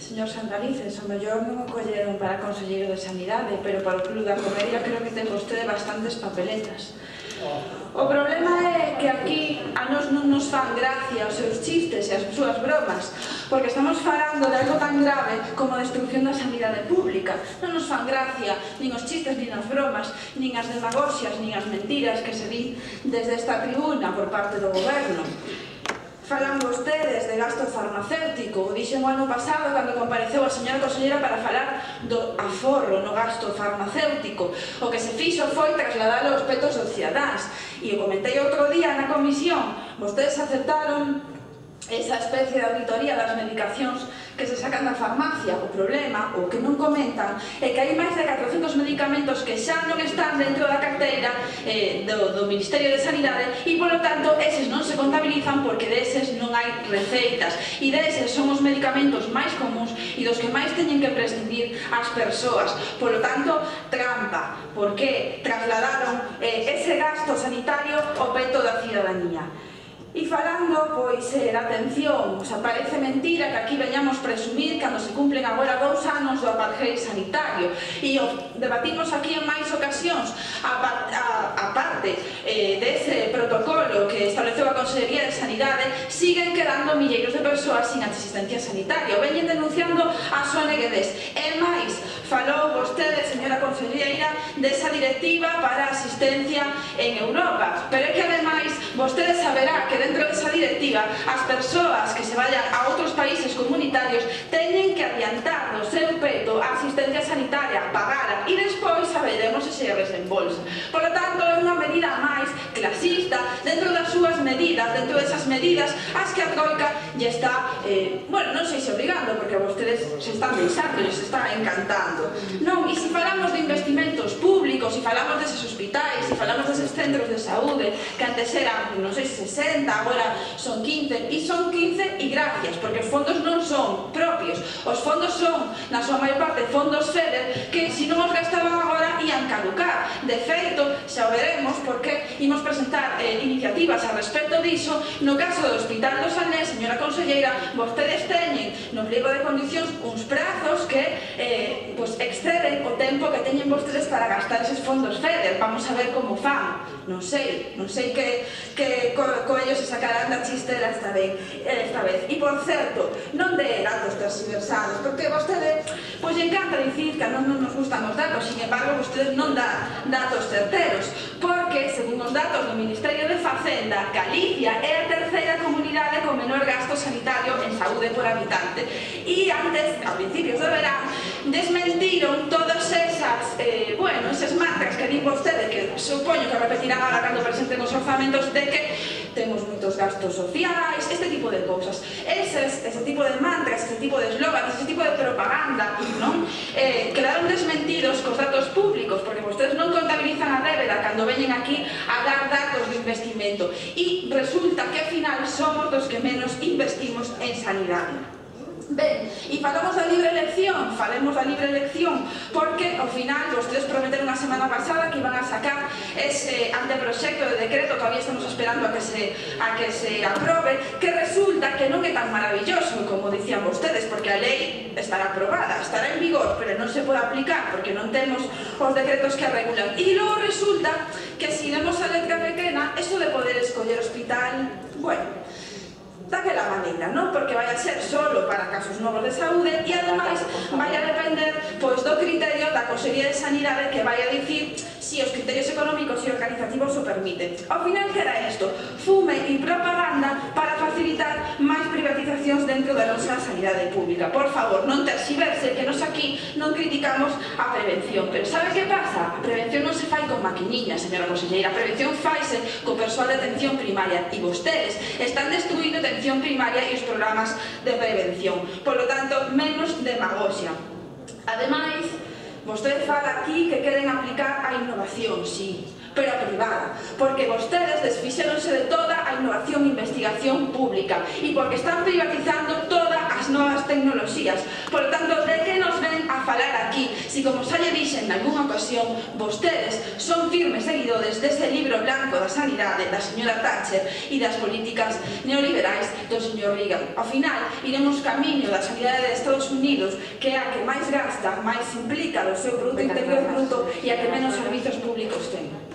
Señor Santalices, o mellor non o colleron para conselleiro de Sanidade, pero para o Club da Comedia creo que ten vostede bastantes papeletas. O problema é que aquí a nos non nos fan gracia os seus chistes e as súas bromas, porque estamos falando de algo tan grave como a destrucción da sanidade pública. Non nos fan gracia nin os chistes, nin as bromas, nin as demagoxias, nin as mentiras que se din desde esta tribuna por parte do goberno. Falan vostedes de gasto farmacéutico. O dixen o ano pasado cando compareceu a señora conselleira para falar do aforro no gasto farmacéutico. O que se fixo foi trasladar aos petos dos cidadáns. E o comentei outro día na comisión. Vostedes aceptaron esa especie de auditoría das medicacións que se sacan da farmacia. O problema, o que non comentan, é que hai máis de 400 medicamentos que xa non están dentro da carteira do Ministerio de Sanidade e, polo tanto, eses non se contabilizan porque deses non hai receitas e deses son os medicamentos máis comuns e dos que máis teñen que prescindir as persoas. Polo tanto, trampa, porque trasladaron ese gasto sanitario ao peto da cidadanía. E falando, pois, da atención, parece mentira que aquí veñamos presumir cando se cumplen agora 2 anos do apartheid sanitario e o debatimos aquí en máis ocasións. A parte dese protocolo que estableceu a Consellería de Sanidade, siguen quedando milleiros de persoas sin asistencia sanitaria. Veñen denunciando a ONGs. E máis, falou vostede, señora conselleira, desa directiva para a asistencia en Europa, pero é que ademais vostede saberá que dentro desa directiva as persoas que se vayan a outros países comunitarios teñen que adiantar do seu peto a asistencia sanitaria, pagara e despois saberemos se se resembolsa. Por lo tanto, é unha medida máis clasista dentro das súas medidas, dentro desas medidas as que a Troika lle está, bueno, non sei se obrigando, porque a vostedes se están deixando, se está encantando. Non, e se falamos de investimentos públicos, se falamos deses hospitais, se falamos deses centros de saúde, que antes eran, non sei, 60, agora son 15, e son 15 e gracias, porque os fondos non son propios, os fondos son, na súa maior parte, fondos FEDER, que se non os gastaban agora ian caducar. De feito, xa o veremos, porque imos presentar iniciativas a respecto diso. No caso do Hospital do Salnés, señora conselleira, vostedes teñen no pliego de condicións uns prazos que exceden o tempo que teñen vostedes para gastar eses fondos FEDER. Vamos a ver como fan. Non sei que coellos se sacarán da chistera esta vez. E, por certo, non de datos tergiversados, porque vostede, pois, encanta dicir que non nos gustan os datos, sin embargo, vostedes non dan datos certeros, porque, según os datos do Ministerio de Facenda, Galicia é a terceira comunidade con menor gasto sanitario en saúde por habitante. E antes, a principios do verán, desmentiron todas esas, eses mantras que din vostede, que supoño que repetirán agora cando presenten os orzamentos, de que temos moitos gastos sociais, este tipo de cousas. Ese tipo de mantras, ese tipo de eslóganes, ese tipo de propaganda, non? Quedaron desmentidos cos datos públicos, porque vostedes non contabilizan a débeda cando veñen aquí a dar datos de investimento. E resulta que, ao final, somos dos que menos investimos en sanidade. Ben, e falamos da libre elección, falemos da libre elección, porque ao final vostedes prometeron a semana pasada que iban a sacar ese anteproxecto de decreto, todavía estamos esperando a que se aprobe, que resulta que non é tan maravilloso como dicían vostedes, porque a lei estará aprobada, estará en vigor, pero non se pode aplicar porque non temos os decretos que a regulan. E logo resulta que se demos a letra pequena, eso de poder escoller hospital, bueno, daquela maneira, non? Porque vai a ser solo para casos novos de saúde e, ademais, vai a depender do criterio da Consellería de Sanidade, que vai a dicir se os criterios económicos e organizativos o permiten. Ao final queda isto, fume e propaganda para facilitar máis privatizacións dentro da nosa sanidade pública. Por favor, non terxiverse, que nos aquí non criticamos a prevención. Pero sabe que pasa? A prevención non se fai con maquiniñas, señora conselleira. A prevención faise co persoal de atención primaria e vostedes están destruindo atención primaria e os programas de prevención. Por lo tanto, menos demagoxia. Ademais, vostede fala aquí que queren aplicar a innovación, sí, pero a privada, porque vostedes desfixéronse de toda a innovación e investigación pública e porque están privatizando todas as novas tecnoloxías. Por tanto, de que nos ven a falar aquí? Si, como xa lle dixen nalgúna ocasión, vostedes son firmes seguidores dese libro blanco da sanidade da señora Thatcher e das políticas neoliberais do señor Reagan. Ao final, iremos camiño da sanidade de Estados Unidos, que é a que máis gasta, máis implica do seu Produto Interior Bruto e a que menos servizos públicos ten.